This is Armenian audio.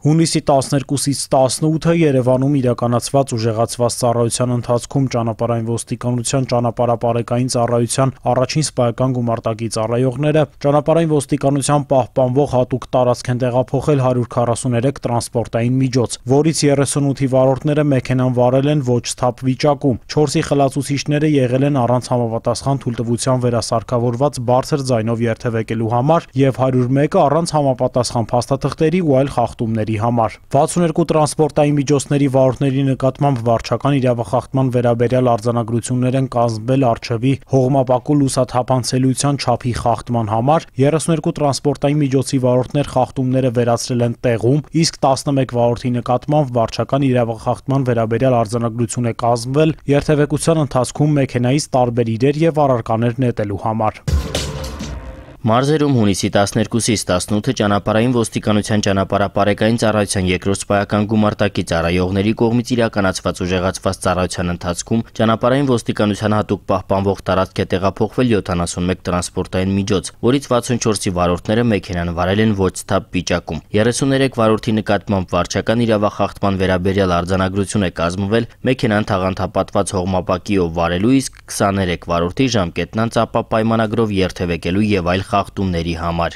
Հունիսի 12-ից 18-ը Երևանում իրականացված ուժեղացված ծառայության ընթացքում ճանապարհային ոստիկանության ճանապարհապարեկային ծառայության առաջին սպայական գումարտակի ծառայողները ճանապարհային ոստիկանության պահպանվող հատուկ տարածք են տեղափոխել 143 տրանսպորտային միջոց, որից 38-ի վարորդները մեքենան վարել են ոչ սթափ վիճակում, 4-ի խլացուցիչները եղել են առանց համապատասխան թույլտվության վերասարքավորված բարձր ձայնով երթևեկելու համար և 101-ը առանց համապատասխան փաստաթղթերի ու այլ խախտումների համար։ 62 տրանսպորտային միջոցների վարորդների նկատմամբ վարչական իրավախախտման վերաբերյալ արձանագրություններ են կազմվել առջևի հողմապակու լուսաթափանցելիության չափի խախտման համար, 32 տրանսպորտային միջոցի վարորդներ խախտումները վերացրել են տեղում, իսկ 11 վարորդի նկատմամբ վարչական իրավախախտման վերաբերյալ արձանագրություն է կազմվել երթևեկության ընթացքում մեքենայից տարբեր իրեր և առարկաներ նետելու համար։ Մարզերում հունիսի 12-ից 18-ը ճանապարհային ոստիկանության ճանապարհապարեկային ծառայության երկրորդ սպայական գումարտակի ծառայողների կողմից իրականացված ուժեղացված ծառայության ընթացքում ճանապարհային ոստիկանության հատուկ պահպանվող տարածք է տեղափոխվել 71 տրանսպորտային միջոց, որից 64-ի վարորդները մեքենան վարել են ոչ սթափ վիճակում։ 33 վարորդի նկատմամբ վարչական իրավախախտման վերաբերյալ արձանագրություն է կազմվել մեքենան թաղանթապատված հողմապակիով վարելու, իսկ 23 վարորդի ժամկետնանց ապա պայմանագրով երթևեկելու և այլ խախտումների համար։